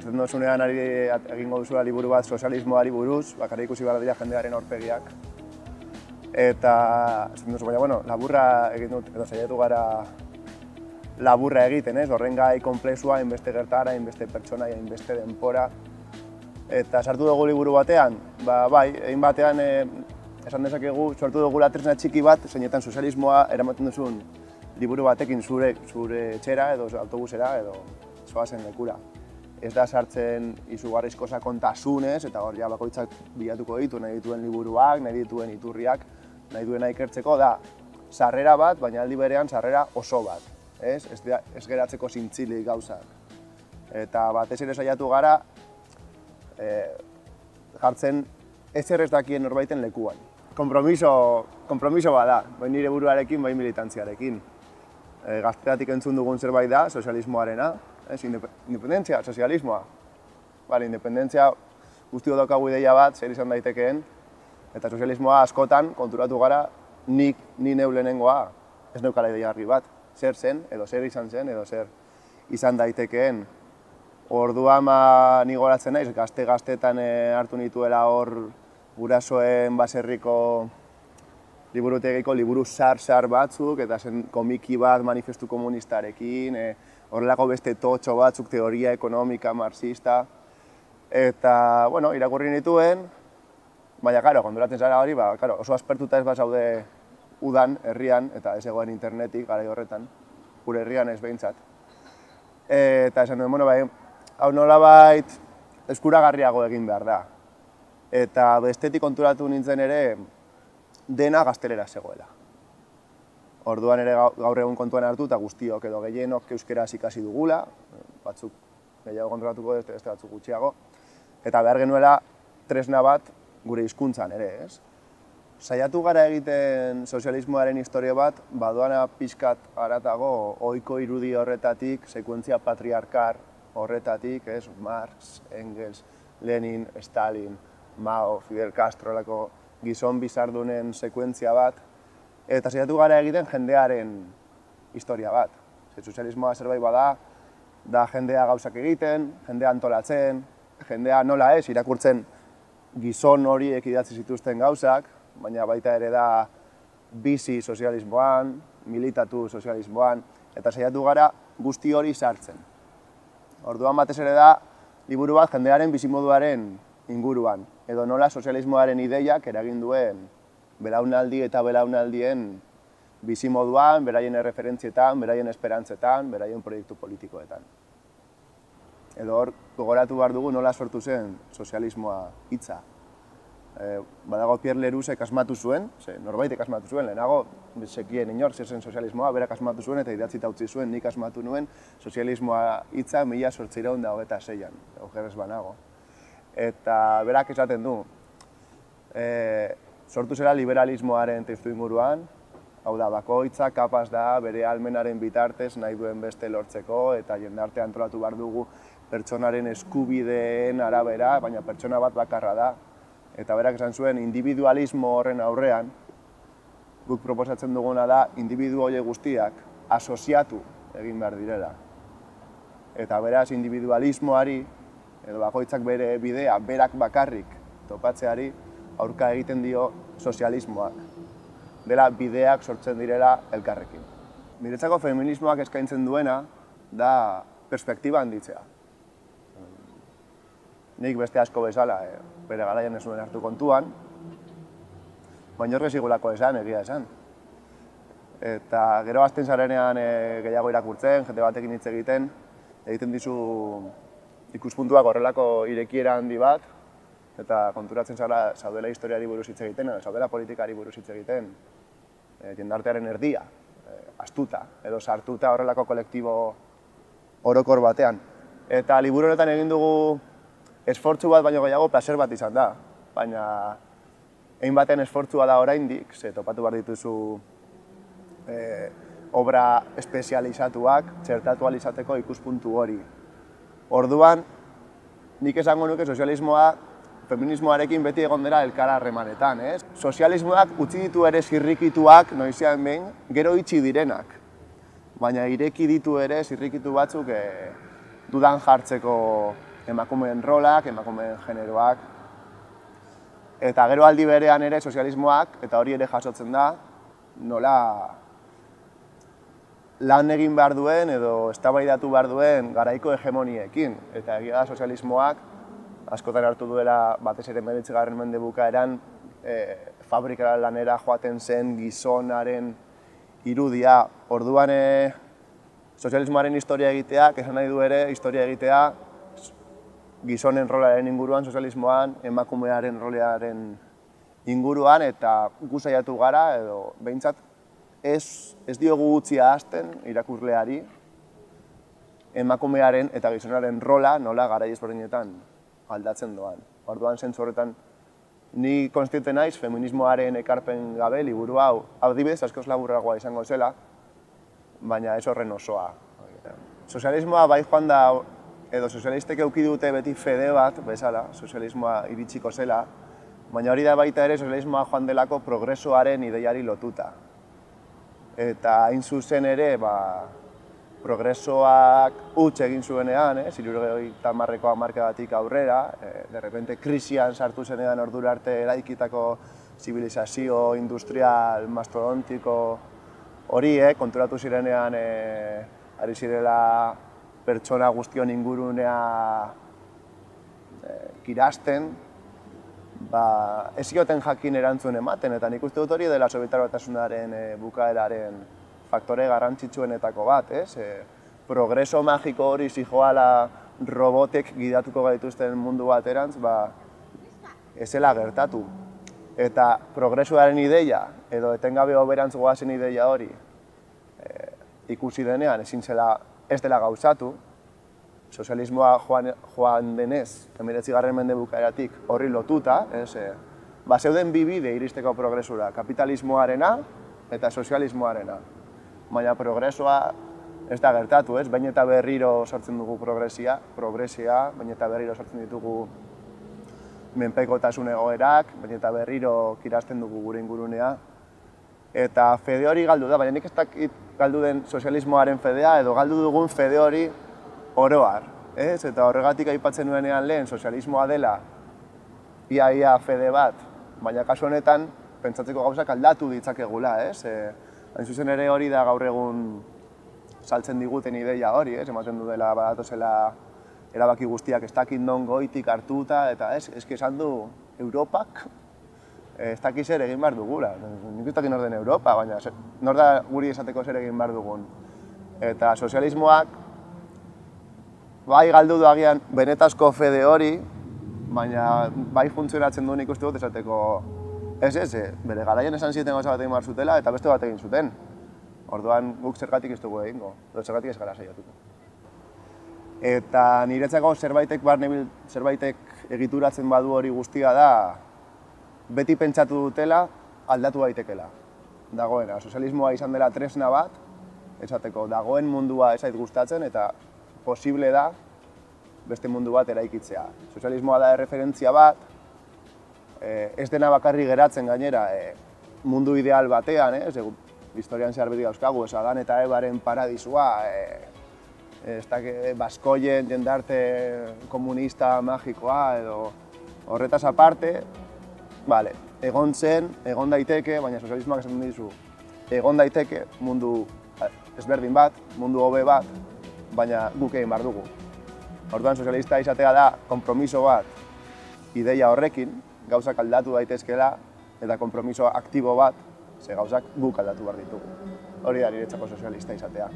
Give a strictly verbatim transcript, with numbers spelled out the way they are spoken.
Esten dozunean ari egingo duzula liburu bat sozialismoari buruz, bakarrik ikusi behar dira jendearen aurpegiak. Eta, esten duzu, baina, bueno, laburra egin dut, edo saiatu gara laburra egiten, ez? Horren gai komplexua, hainbeste gertara, hainbeste pertsona, hainbeste denpora. Eta sartu dugu liburu batean, ba, bai, egin batean, e, esan dezakegu, sortu dugu tresna txiki bat, zeinetan sozialismoa eramaten duzun liburu batekin zure, zure etxera, edo autobusera, edo zoazen lekura. Ez da sartzen izugarrizko sakontasunez, eta hor ja bakoitzak bilatuko ditu, nahi dituen liburuak, nahi dituen iturriak, nahi duena ikertzeko, da sarrera bat, baina aldi berean sarrera oso bat. Ez, ez, ez geratzeko zintzilik gauzak. Eta batez ere saiatu gara, e, jartzen ezer ez dakien norbaiten lekuan. Kompromiso, kompromiso bat da, bai nire buruarekin, bai militantziarekin. E, gazteatik entzun dugun zerbait da, sozialismoarena, ez, independentzia, sozialismoa. Bale, independentzia guztio daukagu ideia bat, zer izan daitekeen, eta sozialismoa askotan konturatu gara nik, ni neu lehenengoa, ez neukala ideia argi bat. Zer zen, edo zer izan zen, edo zer izan daitekeen. Orduan ma ni goratzen naiz, gazte-gaztetan hartu nituela hor gurasoen baserriko liburutegiko liburu zar-zar batzuk, eta zen komiki bat manifestu komunistarekin, horrelako beste totxo batzuk, teoria ekonomika, marxista. Eta, bueno, irakurri nituen, baina, karo, konduratzen zara hori, ba, karo, oso aspertuta ez bazaude udan, herrian, eta ez egoen internetik, garai horretan, gure herrian ez behintzat. Eta esan duen, bueno, bai, hau nolabait eskuragarriago egin behar da. Eta bestetik konturatu nintzen ere, dena gaztelera zegoela. Orduan ere gaur egun kontuan hartu eta guztiok edo gehienok euskeraz ikasi dugula, batzuk gehiago konturatuko beste batzuk gutxiago, eta behar genuela tresna bat gure hizkuntzan ere, ez? Saiatu gara egiten sozialismoaren historia bat, badoana pixkat haratago ohiko irudi horretatik, sekuentzia patriarkar horretatik, ez? Marx, Engels, Lenin, Stalin, Mao, Fidel Castro, lako gizon bizardunen sekuentzia bat, eta saiatu gara egiten jendearen historia bat. Sozialismoa zerbait bada, da jendea gauzak egiten, jendea antolatzen, jendea nola ez, irakurtzen gizon horiek idatzi zituzten gauzak, baina baita ere da bizi sozialismoan, militatu sozialismoan, eta saiatu gara guzti hori sartzen. Orduan batez ere da, liburu bat jendearen bizimoduaren inguruan, edo nola sozialismoaren ideiak eragin duen belaunaldi eta belaunaldien bizimoduan, beraien erreferentzietan, beraien esperantzetan, beraien proiektu politikoetan. Edo hor, gogoratu behar dugu nola sortu zen sozialismoa hitza. Badago Pierre Lerousek asmatu zuen, norbaitek asmatu zuen, lehenago sekien inor zer zen sozialismoa, berak asmatu zuen eta idatzita utzi zuen, nik asmatu nuen sozialismoa hitza mila zortziehun eta hogeita seian, okerrez banago. Eta berak esaten du, sortu zela liberalismoaren testu inguruan, hau da, bakoitza kapaz da bere ahalmenaren bitartez nahi duen beste lortzeko eta jendartea antolatu behar dugu pertsonaren eskubideen arabera, baina pertsona bat bakarra da. Eta berak esan zuen, individualismo horren aurrean, guk proposatzen duguna da, individu horiek guztiak asoziatu egin behar direla. Eta beraz, individualismoari, edo bakoitzak bere bidea, berak bakarrik topatzeari, aurka egiten dio sozialismoak. Dela bideak sortzen direla elkarrekin. Niretzako feminismoak eskaintzen duena da perspektiba handitzea. Nik beste asko bezala, bere garaian ez nuen hartu kontuan, baina horrez igulako esan, egia esan. Eta gero azten zarenean gehiago irakurtzen, jende batekin hitz egiten, egiten dizu ikuspuntuak horrelako irekiera handi bat, eta konturatzen zara zaudela historiari buruz hitz egiten, zaudela politikari buruz hitz egiten, jendartearen erdia, astuta, edo sartuta horrelako kolektibo orokor batean. Eta liburu honetan egin dugu esfortzu bat baino gehiago plazer bat izan da, baina egin baten esfortzua da oraindik, ze topatu behar dituzu obra espezializatuak, txertatu ahal izateko ikuspuntu hori. Orduan, nik esango nuke sozialismoa feminismoarekin beti egon dela elkar harremanetan, ez? Sozialismoak utzi ditu ere zirrikituak, noizean behin, gero itxi direnak. Baina ireki ditu ere zirrikitu batzuk dudan jartzeko emakumeen rolak, emakumeen generoak. Eta gero aldi berean ere sozialismoak, eta hori ere jasotzen da, nola lan egin behar duen edo eztabaidatu behar duen garaiko hegemoniekin. Eta egia da sozialismoak askotan hartu duela batez ere hemeretzigarren mende bukaeran e, fabrikara lanera joaten zen gizonaren irudia. Orduan e, sozialismoaren historia egiteak, esan nahi du ere, historia egitea gizonen rolaren inguruan, sozialismoan, emakumearen rolearen inguruan, eta gu saiatu gara, edo behintzat ez, ez diogu utzi ahazten irakurleari emakumearen eta gizonaren rola nola garai ezberdinetan aldatzen doan. Orduan zentzu horretan ni konstiente naiz feminismoaren ekarpen gabe liburu hau adibidez askoz laburragoa izango zela, baina ez horren osoa. Sozialismoa bai joan da, edo sozialistek eduki dute beti fede bat, bezala, sozialismoa iritsiko zela, baina hori da baita ere sozialismoa joan delako progresoaren ideiari lotuta. Eta hain zuzen ere, ba, progresoak huts egin zuenean, eh, hirurogeita hamarreko hamarkadatik aurrera, eh, de repente krisian sartu zenean ordura arte eraikitako zibilizazio industrial mastodontiko horiek, konturatu zirenean eh, ari zirela pertsona guztion ingurunea eh, kirasten, ba, ez zioten jakin erantzun ematen, eta nik uste dut hori dela Sobietar Batasunaren e, bukaeraren faktore garrantzitsuenetako bat, ez? E, progreso magiko hori zijoala robotek gidatuko gaituzten mundu baterantz, ba, ez zela gertatu. Eta progresoaren ideia, edo etengabe hoberantz goazen ideia hori, e, ikusi denean ezin zela ez dela gauzatu, sozialismoa joan, joan denez, hemeretzigarren mende bukaeratik horri lotuta, ez, e, ba, zeuden bi bide iristeko progresura, kapitalismoarena eta sozialismoarena. Baina progresoa ez da gertatu, ez, baina eta berriro sortzen dugu progresia, progresia, baina eta berriro sortzen ditugu menpekotasun egoerak, baina eta berriro kirasten dugu gure ingurunea. Eta fede hori galdu da, baina nik ez dakit galdu den sozialismoaren fedea edo galdu dugun fede hori oroar, ez? Eta horregatik aipatzen nuenean lehen sozialismoa dela ia-ia fede bat, baina kasu honetan pentsatzeko gauzak aldatu ditzakegula, ez? E, hain zuzen ere hori da gaur egun saltzen diguten ideia hori, ez? Ematen du dela badatozela erabaki guztiak ez dakit non goitik hartuta, eta ez, eski esan du Europak ez dakit zer egin behar dugula. Nik ez dakit nor den Europa, baina nor da guri esateko zer egin behar dugun. Eta sozialismoak bai galdu du agian benetazko fede hori, baina bai funtzionatzen du nik uste dut esateko ez ez, bere garaian esan zieten gauza bat egin behar zutela eta beste bat egin zuten. Orduan guk zergatik ez dugu egingo, edo zergatik ez gara saiatuko. Eta niretzako zerbaitek barnebil, zerbaitek egituratzen badu hori guztia da beti pentsatu dutela aldatu daitekela. Dagoena, sozialismoa izan dela tresna bat, esateko dagoen mundua ez zait gustatzen eta posible da beste mundu bat eraikitzea. Sozialismoa da erreferentzia bat, ez dena bakarri geratzen gainera mundu ideal batean, ez? Historian zehar beti dauzkagu, ez Adan eta Ebaren paradisua, ez dakit baskoien jendarte komunista magikoa edo horretaz aparte, Vale, egon zen, egon daiteke, baina sozialismoak esaten dizu, egon daiteke mundu ezberdin bat, mundu hobe bat, baina guk egin behar dugu. Orduan sozialista izatea da konpromiso bat ideia horrekin, gauzak aldatu daitezkeela, eta konpromiso aktibo bat, ze gauzak guk aldatu behar ditugu. Hori da niretzako sozialista izatea.